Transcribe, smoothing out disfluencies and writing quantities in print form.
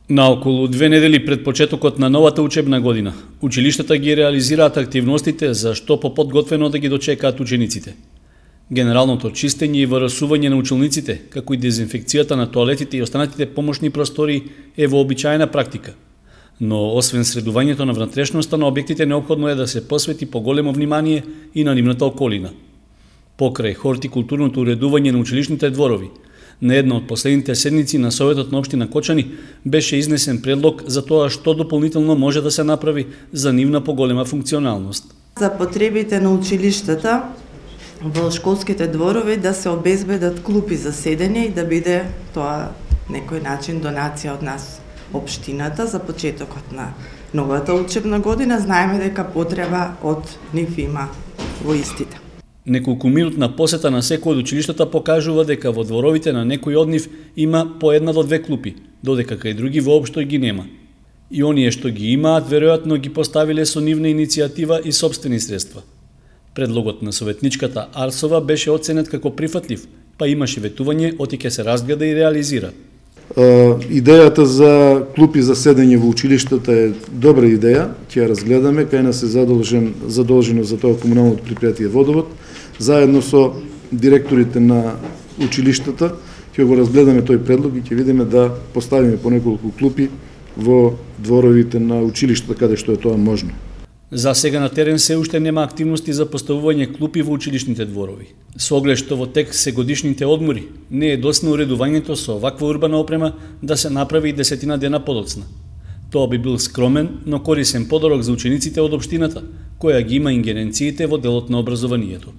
Наоколу 2 недели пред почетокот на новата учебна година, училиштата ги реализираат активностите за што поподготвено да ги дочекаат учениците. Генералното чистење и варасување на училниците, како и дезинфекцијата на тоалетите и останатите помошни простори е вообичаена практика. Но освен средувањето на внатрешноста на објектите, неопходно е да се посвети поголемо внимание и на нивната околина. Покрај хортикултурното уредување на училишните дворови, на една од последните седници на Советот на општина Кочани беше изнесен предлог за тоа што дополнително може да се направи за нивна поголема функционалност. За потребите на училиштата во школските дворови да се обезбедат клупи за седење и да биде тоа некој начин донација од нас општината за почетокот на новата учебна година. Знаеме дека потреба од нив има во истите. Неколкуминутна посета на секој од училиштата покажува дека во дворовите на некој од нив има по 1 до 2 клупи, додека кај други воопшто ги нема. И оние што ги имаат, веројатно ги поставиле со нивна иницијатива и сопствени средства. Предлогот на советничката Арсова беше оценет како прифатлив, па имаше ветување оти ќе се разгледа и реализира. Идејата за клупи за седење во училиштата е добра идеја, ќе ја разгледаме, кај нас е задолжено за тоа комуналното предпријатие Водовод, заедно со директорите на училиштата, ќе го разгледаме тој предлог и ќе видиме да поставиме по неколку клупи во дворовите на училиштата каде што е тоа можно. За сега на терен се уште нема активности за поставување клупи во училишните дворови. Со оглед што во тек се годишните одмори, не е доцна уредувањето со оваква урбана опрема да се направи и 10 дена подоцна. Тоа би бил скромен, но корисен подарок за учениците од општината, која ги има ингеренциите во делот на образованието.